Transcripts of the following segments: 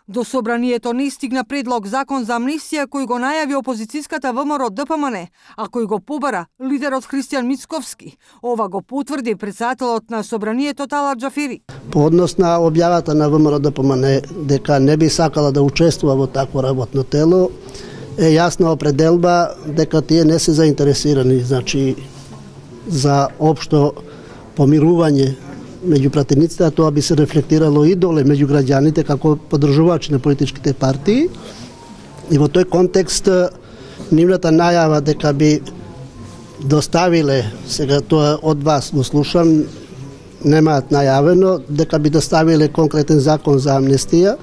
До собранието не стигна предлог закон за амнестија кој го најави опозицијската ВМРО ДПМН, а кој го побара лидерот Христијан Мицковски. Ова го потврди председателот на собранието Талат Џафери. По однос на објавата на ВМРО ДПМН дека не би сакала да учествува во такво работно тело, е јасна определба дека тие не се заинтересирани, значи за општо помирување меѓу пратениците, а тоа би се рефлектирало и доле меѓу граѓаните како поддржувачи на политичките партии. И во тој контекст нивната најава дека би доставиле, сега тоа од вас го слушам, немаат најавено, дека би доставиле конкретен закон за амнестија,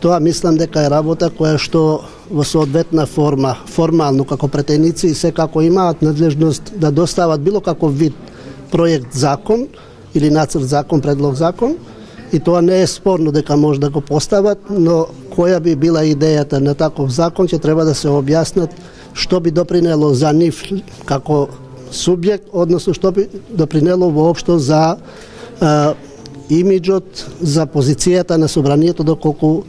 тоа мислам дека е работа која што во соодветна форма, формално како претеници секако имаат надлежност да достават било каков вид проект закон или нацрт закон, предлог закон, и тоа не е спорно дека може да го постават, но која би била идејата на таков закон, ќе треба да се објаснат што би допринело за нив како субјект, односно што би допринело воопшто за имиджот, за позицијата на собранието, доколку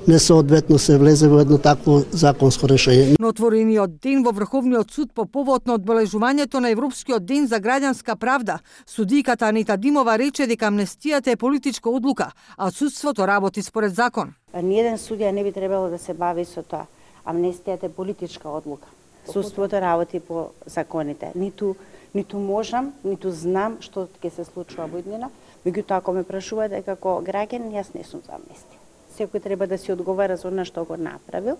несоодветно се влезе во едно такво законско решение. На отворениот ден во Врховниот суд по повод на одбележувањето на Европскиот ден за граѓанска правда, судиката Анита Димова рече дека амнестијата е политичка одлука, а судството работи според закон. Ниеден судија не би требало да се бави со тоа. Амнестијата е политичка одлука. Судството работи по законите. Ниту можам, ниту знам што ќе се случува во иднина, меѓутоа ако ме прашувате како граѓанин, јас не сум за амнестија. Секој треба да си одговара за она што го направил,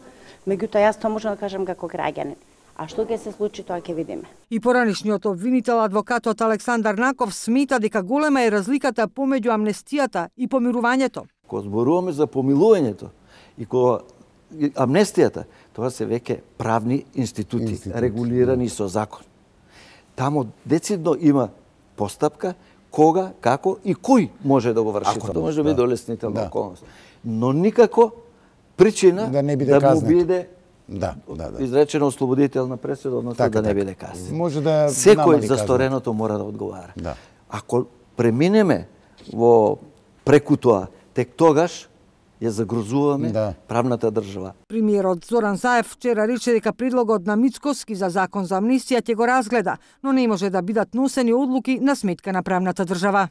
меѓутоа јас тоа можам да кажам како граѓанин. А што ќе се случи, тоа ќе видиме. И поранишниот обвинител, адвокатот Александар Наков, смета дека голема е разликата помеѓу амнестијата и помирувањето. Кога зборуваме за помилувањето и кога амнестијата, тоа се веќе правни институти, регулирани со закон. Тамо децидно има постапка кога, како и кој може да го врши. Тоа може да биде олеснителна околност. Но никако причина да му биде изречена ослободителна пресуда, односно да не биде казнен. Секој за стореното мора да одговара. Ако преминеме во преку тоа, тек тогаш ја загрозуваме правната држава. Премиерот Зоран Заев вчера рече дека предлогот на Мицковски за закон за амнестија ќе го разгледа, но не може да бидат носени одлуки на сметка на правната држава.